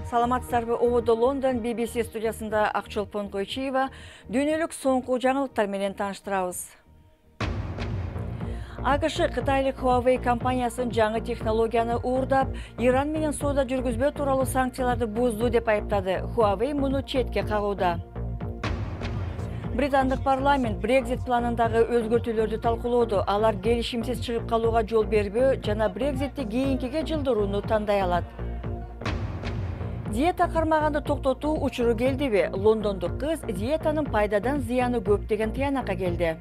Саламатсыздарбы, Ободо Лондон BBC студиясында Акчолпон Койчиева дүйнөлүк соңку жаңылыктар менен тааныштырабыз. АКШ Кытайлык Huawei компаниясын жаңы технологияны уурдап, Иран менен соода жүргүзбөө тууралуу санкцияларды бузду деп айыптады. Huawei муну четке кагууда. Британдык парламент Brexit планындагы өзгөртүүлөрдү талкуулоодо. Алар келишимсиз чыгып калууга жол бербөө жана Brexitти кийинкиге жылдырууну тандай алат. Диета кармаганды токтотуу учуру келдиби? Лондондук кыз диетанын пайдадан зыяны көп деген тыянакка келди.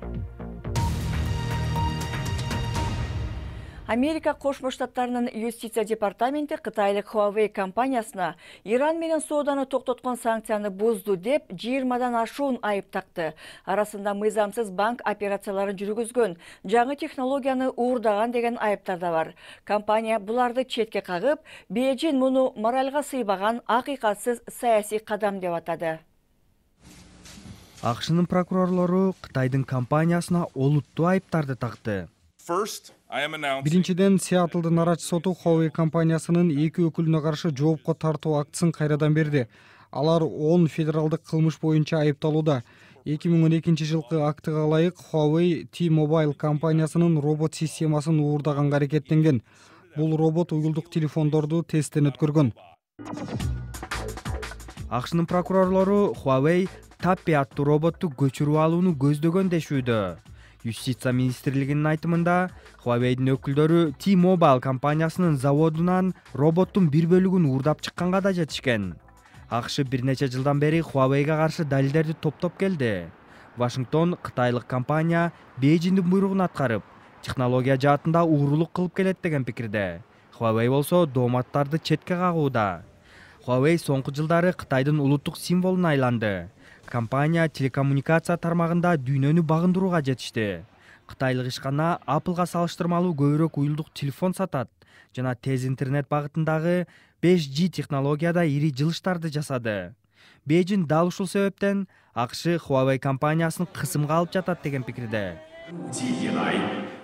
Америка Кошмо Штаттарынын юстиция департаменти Кытайлык Huawei компаниясына Иран менен сооданы токтоткон санкцияны бузду деп 20дан ашуун айып такты. Арасында мыйзамсыз банк операцияларын жүргүзгөн, жаңы технологияны уурдаган деген айыптар да бар. Компания буларды четке кагып, Бейжин муну моральга сыйбаган акыйкатсыз саясий кадам деп атады. АКШнын прокурорлору Кытайдын компаниясына олуттуу айыптарды такты. Биринчиден, Сиэтлдын арачы соту Huawei компаниясынын 2 өкүлүнө каршы жоопко тартуу актысын кайрадан берди. Алар 10 федералдык кылмыш боюнча айыпталууда. 2012 жылкы актыга ылайык Huawei T-Mobile компаниясынын робот системасын уурдаганга аракеттенген. Бул робот уюлдук телефондорду тесттен өткөргөн. АКШнын прокурорлору Huawei Tappy аттуу роботту көчүрүп алууну көздөгөн дешүүдө. Юстиция министрлигинин айтымында, Huawei'дин өкүлдөрү T-Mobile компаниясынын заводунан роботтун бир бөлүгүн уурдап чыкканга да жетишкен. АКШ бир нече жылдан бери Huawei'га каршы далилдерди топтоп келди. Вашингтон кытайлык компания Бейжиңдин буйругун аткарып, технология жаатында уурулук кылып келет деген пикирде. Huawei болсо дооматтарды четке кагууда. Huawei соңку жылдары Кытайдын улуттук символуна айланды. Компания телекоммуникация тармагында дүйнөнү багындырууга жетишти. Кытайлык ишкана Apple'га салыштырмалуу көбүрөөк уюлдук телефон сатат жана тез интернет багытындагы 5G технологияда ири жылыштарды жасады. Бейжин дал ушул себептен АКШ Huawei компаниясын кысымга алып жатат деген пикирде.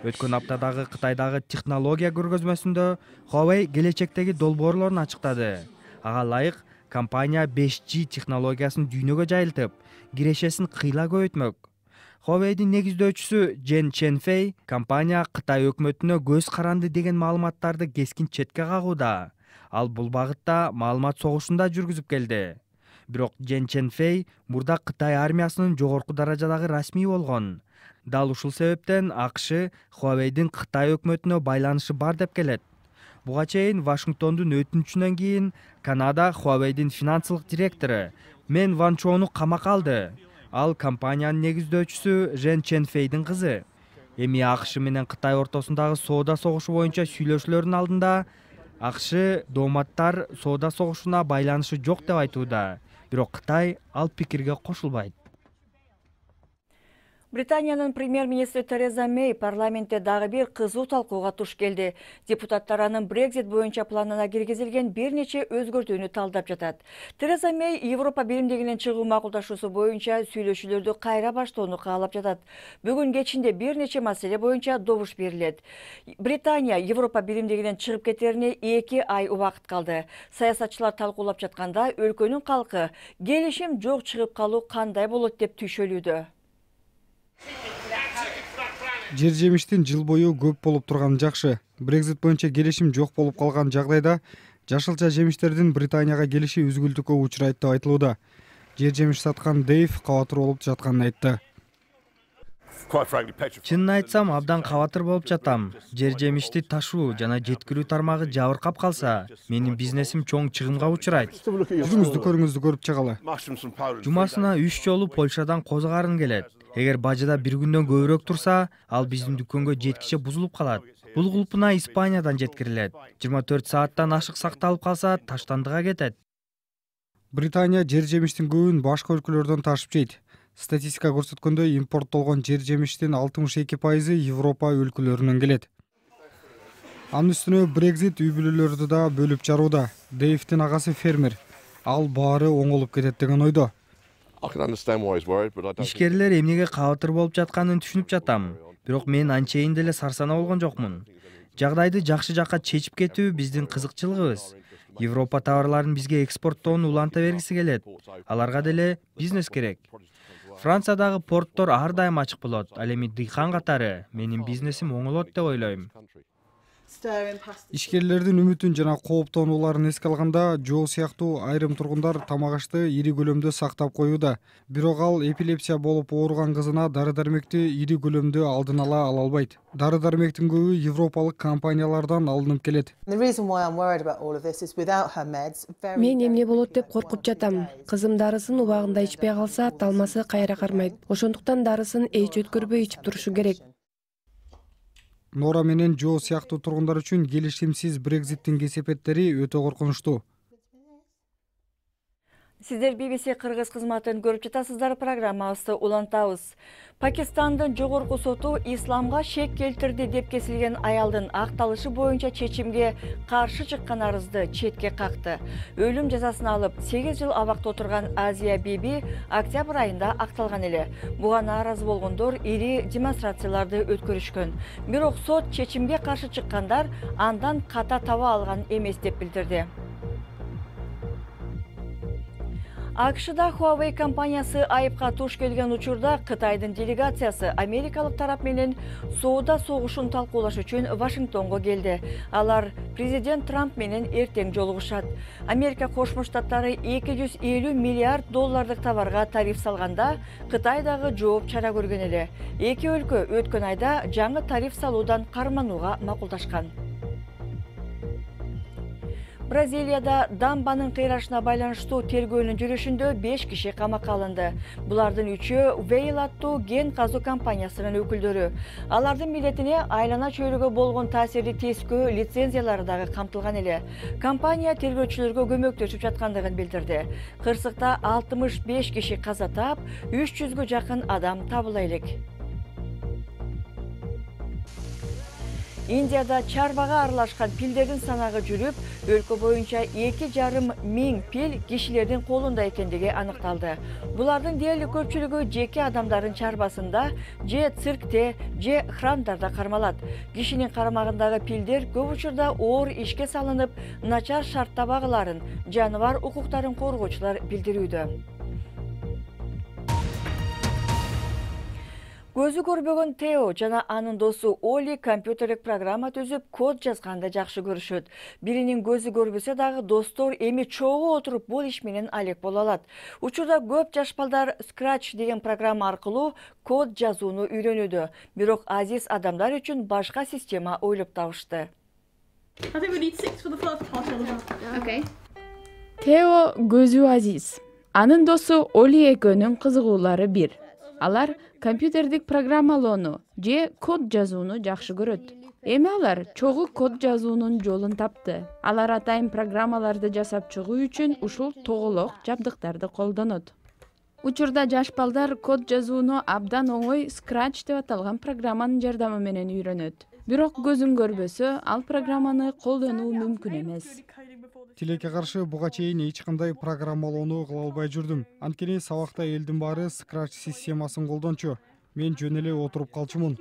Өткөн аптадагы Кытайдагы технология көргөзмөсүндө Huawei келечектеги долбоорлорун ачыктады. Ага ылайык компания 5G технологиясын дүйнөгө жайылтып, кирешесин кыйла көбөйтмөк. Huawei'дин негиздөөчүсү Джен Ченфей компания Кытай өкмөтүнө көз каранды деген маалыматтарды кескин четке кагууда. Ал бул багытта маалымат согушунда жүргүзүп келди. Бирок Джен Ченфей мурда Кытай армиясынын жогорку даражадагы расмий болгон. Дал ушул себептен АКШ Huawei'дин Кытай өкмөтүнө байланышы бар деп келет. Буга чейин Вашингтондун өтүнүчүнөн кийин Канада Huawei'дин финансылык директору Мен Ван Чоуну камакка алды. Ал компаниянын негиздөөчүсү Жен Ченфейдин кызы. Эми АКШ менен Кытай ортосундагы соода согушу боюнча сүйлөшүүлөрдүн алдында АКШ дооматтар соода согушуна байланышы жок деп айтууда. Бирок Кытай ал пикирге кошулбайт. Британиянын премьер-министри Тереза Мэй парламентте дагы бир кызуу талкууга туш келди. Депутаттар анын Brexit боюнча планына киргизилген бир нече өзгөртүүнү талдап жатат. Тереза Мэй Европа биримдигинен чыгуу макулдашуусу боюнча сүйлөшүүлөрдү кайра баштоону каалап жатат. Бүгүн кечинде бир нече маселе боюнча добуш берилет. Британия Европа биримдигинен чыгып кетерине 2 ай убакыт калды. Саясатчылар талкуулап жатканда өлкөнүн калкы келишим жок чыгып калуу кандай болот деп түйшөлүүдө. Жер жемиштин жыл бою көп болуп турганы жакшы. Brexit боюнча келишим жок болуп калган жагдайда жашылча жемиштердин Британияга келиши үзгүлтүккө учурайт деп айтылууда. Жер жемиш саткан Дейв кабатыр болуп жатканын айтты. Чынын айтсам, абдан кабатыр болуп жатам. Жер жемишти ташуу жана жеткирүү тармагы жабыркап калса, менин бизнесим чоң чыгымга учурайт. Жүзүңүздү көрүп чыгалы. Жумасына 3 жолу Польшадан козгарын келет. Эгер бажыда бир күндөн көбүрөөк турса, ал биздин дүкөнгө жеткиче бузулуп калат. Бул кулпуна Испаниядан жеткирилет. 24 сааттан ашык сакталып калса, таштандыга кетет. Британия жер жемиштин көбүн башка өлкөлөрдөн ташып жейт. Статистика көрсөткөндөй, импорттолгон жер жемиштин 62% Европа өлкөлөрүнөн келет. Анын үстүнө Brexit үй бүлөлөрдү да бөлүп жарууда. Дейвдин агасы фермер. Ал баары оңолуп кетет деген ойдо. Ишкерлер эмнеге кабатыр болуп жатканын түшүнүп жатам. Бирок мен анчейин деле сарсана болгон жокмун. Жагдайды жакшы жакка чечип кетүү биздин кызыкчылыгыбыз. Европа товарларын бизге экспорттоону уланта бергиси келет. Аларга деле бизнес керек. Франциядагы порттор ар дайым ачык болот. Ал эми дыйкан катары менин бизнесим оңолот деп ойлойм. Ишкерлердин үмүтүн жана кооптонууларын эске алганда, Жо сыяктуу айрым тургундар тамак ашты ири көлөмдө сактап коюуда. Бирок ал эпилепсия болуп ооруган кызына дары-дармекти ири көлөмдө алдын ала албайт. Дары-дармектин көбү европалык компаниялардан алынып келет. Мен эмне болот деп коркуп жатам. Кызым дарысын убагында ичпей калса, талмасы кайра кармайт. Ошондуктан дарысын эч өткөрбөй ичип турушу керек. Нора менен Жо сыяктуу тургундар үчүн келишимсиз Брекзиттин кесепеттери өтө коркунучтуу. Сиздер BBC кыргыз кызматын көрүп жатасыздар, программабызды улантабыз. Пакистандын жогорку соту исламга шек келтирди деп кесилген аялдын акталышы боюнча чечимге каршы чыккан арызды четке какты. Өлүм жазасын алып 8 жыл абакта отурган Азия Биби октябрь айында акталган эле. Буга нааразы болгондор ири демонстрацияларды өткөрүшкөн. Бирок сот чечимге каршы чыккандар андан ката таба алган эмес деп билдирди. АКШда Huawei компаниясы айыпка туш келген учурда Кытайдын делегациясы америкалык тарап менен соода согушун талкуулаш үчүн Вашингтонго келди. Алар президент Трамп менен эртең жолугушат. Америка Кошмо Штаттары 250 миллиард доллардык товарга тариф салганда, Кытай дагы жооп чара көргөн эле. Эки өлкө өткөн айда жаңы тариф салуудан карманууга макулдашкан. Бразилияда дамбанын кыйрашына байланыштуу тергөөнүн жүрүшүндө 5 киши камакка алынды. Булардын 3-өө Вейл аттуу ген казуу компаниясынын өкүлдөрү. Алардын милдетине айлана чөйрөгө болгон таасирди тескөө лицензиялары дагы камтылган эле. Компания тергөөчүлөргө көмөктөшүп жаткандыгын билдирди. Кырсыкта 65 киши каза таап, 300гө жакын адам табыла элек. Индияда чарбага аралашкан пилдердин санагы жүрүп, өлкө боюнча 2,5 миң пил кишилердин колунда экендиги аныкталды. Булардын дээрлик көпчүлүгү жеке адамдардын чарбасында, же циркте, же храмдарда кармалат. Кишинин карамагындагы пилдер көп учурда оор ишке салынып, начар шартта багыларын, жаныбар укуктарын коргоочулар билдирүүдө. Көзү көрбөгөн Тео жана анын досу Оли компьютерлик программа түзүп, код жазганды жакшы көрүшөт. Биринин көзү көрбөсө дагы достор эми чогуу отуруп бул иш менен алек боло алат. Учурда көп жаш балдар Scratch деген программа аркылуу код жазууну үйрөнүүдө. Бирок азиз адамдар үчүн башка система ойлоп табышты. Тео көзү азиз. Анын досу Оли экөөнүн кызыгуулары бир. Алар компьютердик программалоону же код жазууну жакшы көрөт. Эми алар чогуу код жазуунун жолун тапты. Алар атайын программаларды жасап чыгуу үчүн ушул тоголок жабдыктарды колдонот. Учурда жаш балдар код жазууну абдан оңой Scratch деп аталган программанын жардамы менен үйрөнөт. Бирок көзүн көрбөсө, ал программаны колдонуу мүмкүн эмес. Тилекке каршы буга чейин эч кандай программалоону кыла албай жүрдүм. Анткени сабакта элдин баары Scratch системасын колдончу. Мен жөн эле отуруп калчумун.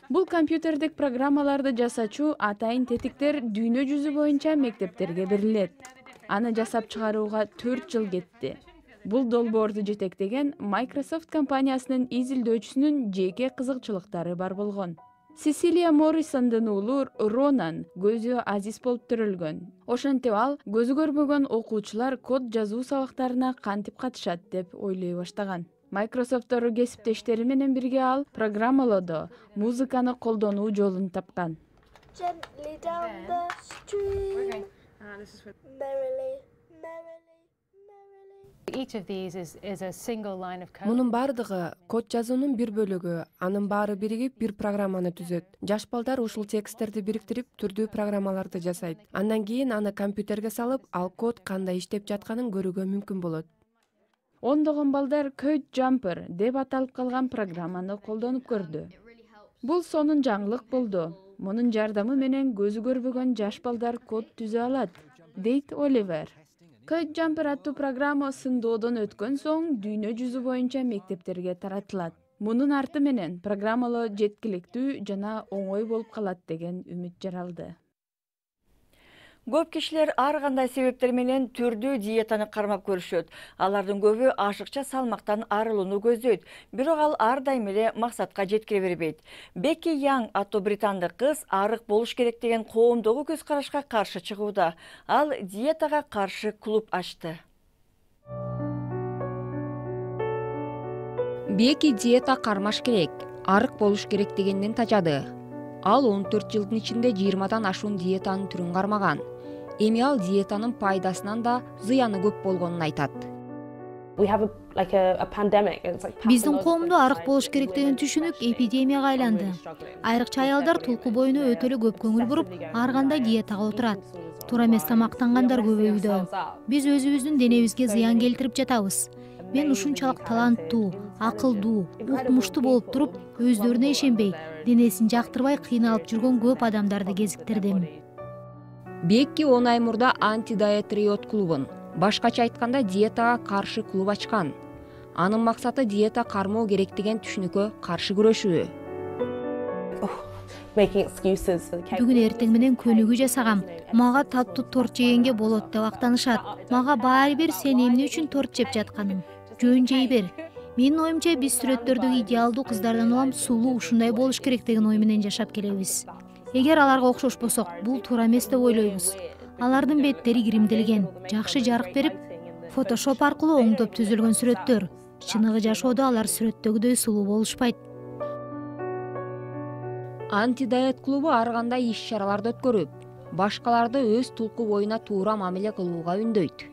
Бул компьютердик программаларды жасачу атайын тетиктер дүйнө жүзү боюнча мектептерге берилет. Аны жасап чыгарууга 4 жыл кетти. Бул долбоорду жетектеген Microsoft компаниясынын изилдөөчүсүнүн жеке кызыкчылыктары бар болгон. Сесилия Моррисондун уулу Ронан көзү азиз болуп төрөлгөн. Ошентип ал көзү көрбөгөн окуучулар код жазуу сабактарына кантип катышат деп ойлой баштаган. Microsoft'тогу кесиптештери менен бирге ал программалоодо музыканы колдонуу жолун тапкан. Мунун бардыгы код жазуунун бир бөлүгү, анын баары биригип бир программаны түзөт. Жаш балдар ушул тексттерди бириктирип, түрдүү программаларды жасайт. Андан кийин аны компьютерге салып, ал код кандай иштеп жатканын көрүүгө мүмкүн болот. Ондогон балдар Code Jumper деп аталып калган программаны колдонуп көрдү. Бул сонун жаңылык болду. Мунун жардамы менен көзү көрбөгөн жаш балдар код түзө алат, дейт Оливер. Code Jumper аттуу программа сындоодон өткөн соң дүйнө жүзү боюнча мектептерге таратылат. Мунун арты менен программалоо жеткиликтүү жана оңой болуп калат деген үмүт жаралды. Көп кишилер ар кандай себептер менен түрдүү диетаны кармап көрүшөт. Алардын көбү ашыкча салмактан арылууну көздөйт, бирок ал ар дайым эле максатка жеткире бербейт. Бекки Янг аттуу британдык кыз арык болуш керек деген коомдогу көз карашка каршы чыгууда. Ал диетага каршы клуб ачты. Бекки диета кармаш керек, арык болуш керек дегенден тажады. Ал 14 жылдын ичинде 20дан ашуун диетанын түрүн кармаган. Эми ал диетанын пайдасынан да зыяны көп болгонун айтат. Биздин коомдо арык болуш керек деген түшүнүк эпидемияга айланды. Айрыкча аялдар тулку боюна өтө эле көп көңүл буруп, ар кандай диетага отурат. Туура эмес тамактангандар көбөйүүдө. Биз өзүбүздүн денебизге зыян келтирип жатабыз. Мен ушунчалык таланттуу, акылдуу, укмуштуу болуп туруп, өздөрүнө ишенбей, денесин жактырбай кыйналып жүргөн көп адамдарды кезиктирдим. Бекки 10 ай мурда анти-диет риот клубун, башкача айтканда диетага каршы клуб ачкан. Анын максаты диета кармоо керек деген түшүнүккө каршы күрөшүү. Бүгүн эртең менен көнүгүү жасагам. Мага таттуу торт жегенге болот деп актанышат. Мага баары бир сен эмне үчүн торт жеп жатканың? Жөн жей бер. Менин оюмча биз сүрөттөрдөгү идеалдуу кыздардан улам сулуу ушундай болуш керек деген ой менен жашап келебиз. Эгер аларга окшошпосок, бул туура эмес деп ойлойбуз. Алардын беттери киримделген, жакшы жарык берип, фотошоп аркылуу оңдоп түзүлгөн сүрөттөр. Чыныгы жашоодо алар сүрөттөгүдөй сулуу болушпайт. Анти-диет клубу ар кандай иш-чараларды өткөрүп, башкаларды өз тулку боюна туура мамиле кылууга үндөйт.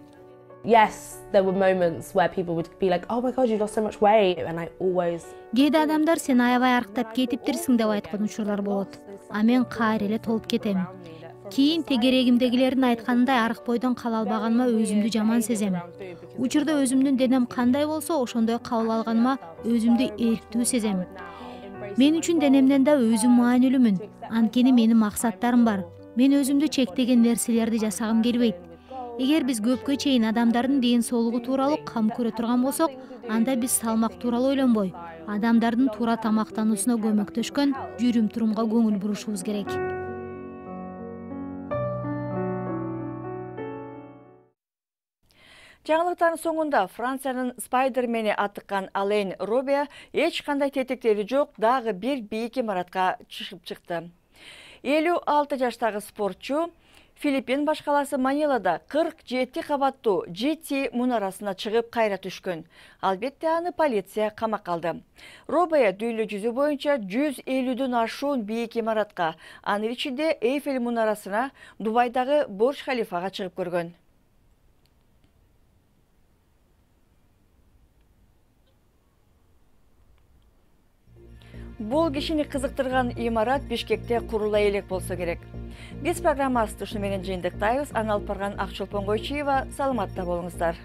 Кээде адамдар сен аябай арыктап кетиптирсиң деп айткан учурлар болот. А мен кайра эле толуп кетем. Кийин тегерегимдегилердин айтканындай арык бойдон кала албаганыма өзүмдү жаман сезем. Учурда өзүмдүн денем кандай болсо, ошондой кабыл алганыма өзүмдү эрктүү сезем. Мен үчүн денемден да өзүм маанилүүмүн. Анткени менин максаттарым бар. Мен өзүмдү чектеген нерселерди жасагым келбейт. Эгер биз көпкө чейин адамдардын ден соолугу тууралуу кам көрө турган болсок, анда биз салмак тууралуу ойлонбой, адамдардын туура тамактануусуна көмөктөшкөн жүрүм-турумга көңүл бурушубуз керек. Жаңылыктардын соңунда Франциянын Спайдермени атыккан Ален Робе эч кандай тетиктери жок дагы бир бийик имаратка чыгып чыкты. 56 жаштагы спортчу Филиппин баш каласы Манилада 47 кабаттуу GT мунарасына чыгып кайра түшкөн. Албетте аны полиция камакка алды. Робе дүйнө жүзү боюнча 150дөн ашуун бийик имаратка, анын ичинде Эйфель мунарасына, Дубайдагы Бурж Халифага чыгып көргөн. Бул кишини кызыктырган имарат Бишкекте курула элек болсо керек. Биз программабызды ушу менен жыйынтыктайбыз. Аны алып барган Акчолпон Койчуева, саламатта болуңуздар.